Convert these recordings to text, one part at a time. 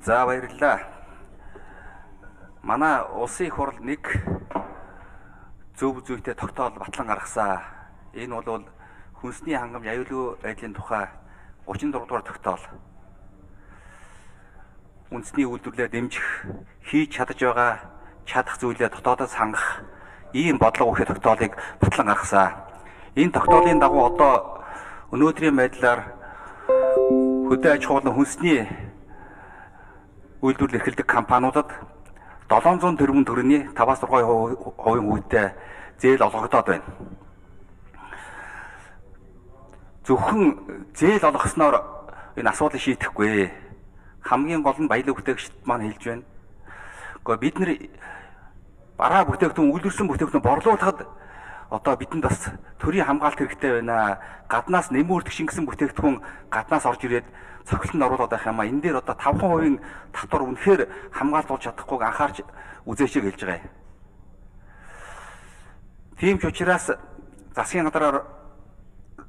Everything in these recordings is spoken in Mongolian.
За баярлалаа. Манай улсын их хурл нэг зөв зүйтэй тогтоол батлан гаргасан. Энэ бол хүнсний хангамж аюулгүй байдлын тухай 36 дугаар тогтоол. Үндэсний үйлдвэрлэлээр дэмжих, хийж чадаж байгаа чадах зүйлээ дотоодоос хангах ийм бодлого өгөх тогтоолыг батлан гаргасан. Энэ тогтоолын дагуу одоо өнөөдрийн байдлаар хөдөө аж ахуйн хүнсний үйлдвэрлэл эрхэлдэг компаниудад 700 тэрбум төгрөгийн 5-6% үнэтэй зээл олгогдоод байна. Зөвхөн зээл олгосноор энэ асуудлыг шийдэхгүй. Хамгийн гол нь баялаг бүтээгчид маань хэлж байна. Гэхдээ бид нэр бараа бүтээгдэхүүн үйлдвэрсэн бүтээгдэхүүн борлуулахад одоо бидэнд бас төрийн хамгаалалт хэрэгтэй байна. Гаднаас нэмүүрдэх шингэсэн бүтээгдэхүүн гаднаас орж ирээд цохилтонд оруулаад байх юм а. Энэ дээр одоо 5% татвар үнэхээр хамгаалт болж чадахгүйг анхаарч үзээч гэж байгаа юм. Тийм ч учраас засгийн газраар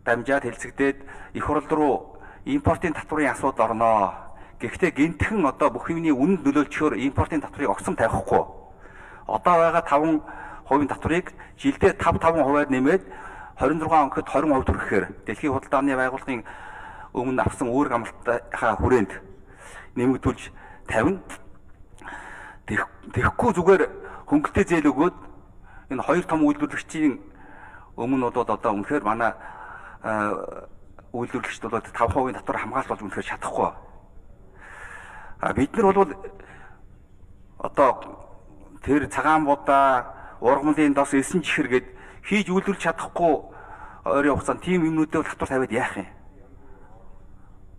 дамжаад хэлцэгдээд их хурл руу импортын татварын асуудал орноо. Гэхдээ гинтхэн одоо бүх юмны үнэнд нөлөөлчихөөр импортын татварыг огцом тавихгүй. Одоо байгаа 5% татварыг жилдээ 5-5%-аар нэмээд 26 оногт 20% төрөхээр Дэлхийн худалдааны байгууллагын өмнө авсан үүрэг амлалтынхаа хүрээнд нэмэгдүүлж тавина. Тэгэхгүй зүгээр хөнгөлтэй зээл өгөөд энэ хоёр том үйлдвэрлэгчийн өмнө бол одоо үнэхээр манай үйлдвэрлэгчд бол 5% татвар хамгаалж болж үнэхээр чадахгүй. Бид нар бол одоо тэр цагаан будаа ургамлын дос 9 чихэр гээд хийж үйлдвэрлэж чадахгүй ойрын хугацаанд тийм юмнуудыг татвар тавиад яах юм?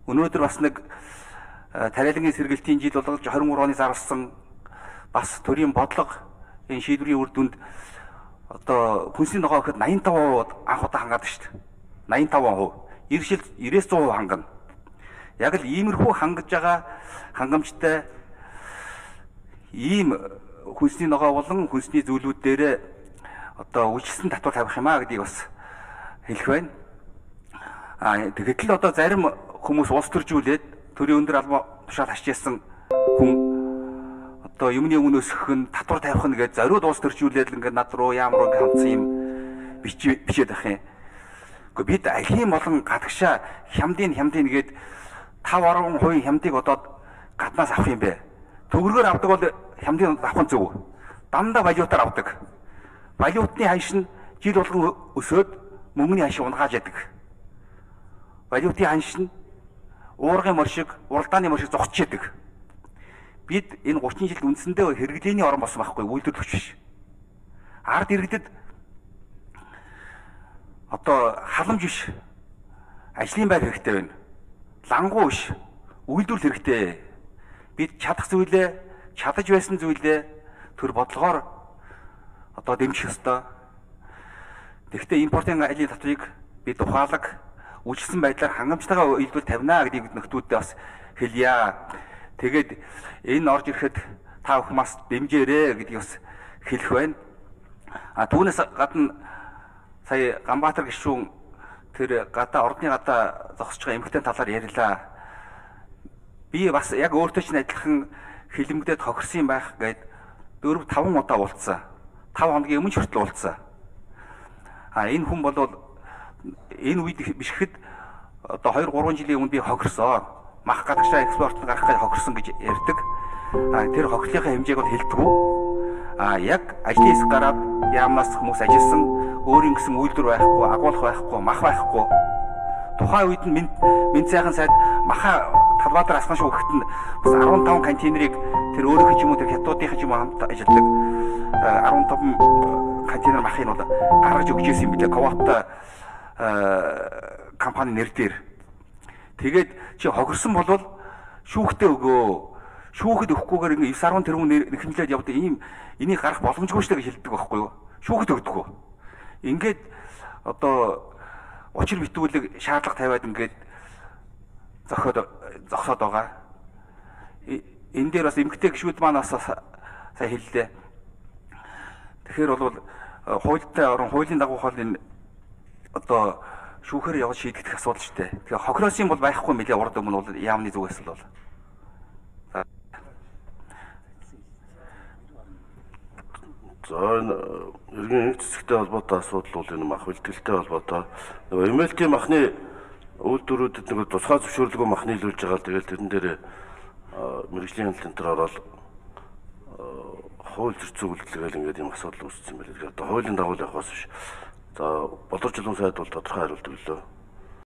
Өнөөдөр бас нэг тариалангийн сэргэлтийн жил болгож 23 оны зарласан бас төрийн бодлого энэ шийдвэрийн үр дүнд одоо хүнсний ногоо гэхэд 85% анх удаа хангаад шүү дээ. 85%. Иршил 90-100% хангана. Яг л иймэрхүү хангаж байгаа хангамжтай ийм хүнсний ногоо болон хүнсний зүйлүүд дээр одоо үйлчлсэн татвар тавих юм а гэдгийг бас хэлэх байна. Тэгэхэд л одоо зарим хүмүүс улс төржүүлээд төрийн өндөр албан тушаал хашижсэн хүн одоо юмны өмнө өсгөх нь татвар тавих нь гэж зориуд улс төржүүлээд л ингээд над руу ямар ингээд хандсан юм бичээд ах юм. Гэхдээ бид алхийн болон гадагшаа хямдын гээд 5-10% хямдыг одоо гаднаас авах юм бэ. Төгрөгөөр авдаг бол хямдын авах нь зөв. Дандаа валютаар авдаг. Валютны ханш нь жил болгон өсөөд мөнгөний ханш унгааж яадаг. Валютын ханш нь уургын моршиг, уралдааны моршиг зогсож яадаг. Бид энэ 30 жилд үндсэндээ хэрэглээний орн болсон байхгүй үйлдвэрлэгч биш. Ард иргэдэд одоо халамж биш. Ажлын байр хэрэгтэй байна. Лангуу биш. Үйлдвэрлэл хэрэгтэй. Бид чадах зүйлээ, чадаж байсан зүйлээ төр бодлогоор одоо дэмжих ёстой. Тэгэхдээ импортын айлын татварыг бид ухаалаг үйлчлсэн байдлаар хангамжтайгаа үйлдвэр тавина гэдгийг нөхдүүддээ бас хэлье. Тэгээд энэ орж ирэхэд та бүхэн бас дэмжээрэй гэдгийг бас хэлэх байна. Түүнээс гадна сая Ганбаатар гишүүн тэр ордны гадаа зогсож байгаа эмэгтэй талаар ярьлаа. Би бас яг өөртөө ч адилхан хилэмгдээд хохирсон байх гээд 4-5 удаа уулзсан. 5 хоногийн өмнө хүртэл уулзсан. Энэ хүн бол энэ үед бишгэд одоо 2-3 жилийн өмнө би хохирсон. Мах гадагшаа экспорт гарах гэж хохирсон гэж ярьдаг. Тэр хохирлынхаа хэмжээг бол хэлдэггүй. Яг ажлын хэсэг гараад яамнаас хүмүүс ажилласан, өөрийн гэсэн үйлдвэр байхгүй, агуулах байхгүй, мах байхгүй. Тухайн үед нь Мэнд сайхан сайд маха Талбаатар асхан шүүхт нь бас 15 контейнерыг тэр өөрийнх нь ч юм уу тэр хятадуудынх нь ч юм уу хамт ажилладаг 15 контейнер махыг бол гаргаж өгч ирсэн юм билээ. Ковата компани нэр дээр. Тэгээд чи хохирсон болвол шүүхтээ өгөө. Шүүхэд өгөхгүйгээр ингээ 9-10 тэрбум нэхэмлээд явдаг энийг гарах боломжгүй шүү гэж хэлдэг байхгүй юу? Шүүхэд өгдөггүй. Ингээд одоо учир битүүлэг шаардлага тавиад ингээд зогсоод байгаа. Энэ дээр бас эмгтэй гишүүд маань бас сая хэллээ. Тэгэхээр бол хуультай орон хуулийн дагуу хол энэ одоо шүүхээр явж шийдэх асуудал шүү дээ. Тэгэхээр хохироос юм бол байхгүй мэлээ урд өмнө бол яамны зүгээс л бол. За энэ иргэн энх цэцэгтэй холбоотой асуудал бол энэ мах бэлтгэлтэй холбоотой. Нөгөө MLT махны үйлдвэрүүдэд нөгөө тусгай зөвшөөрлөгөө мах нийлүүлж байгаа. Тэгэл тэрэн дээр мэрэгжлийн хяналтын ороод хууль зөрчил үйлдэлгээл ингээд юм асуудал үүссэн юм байна. Тэгэхээр одоо хуулийн дагуу явахаас биш. За боловч чулуун сайд бол тодорхой хариулт өглөө.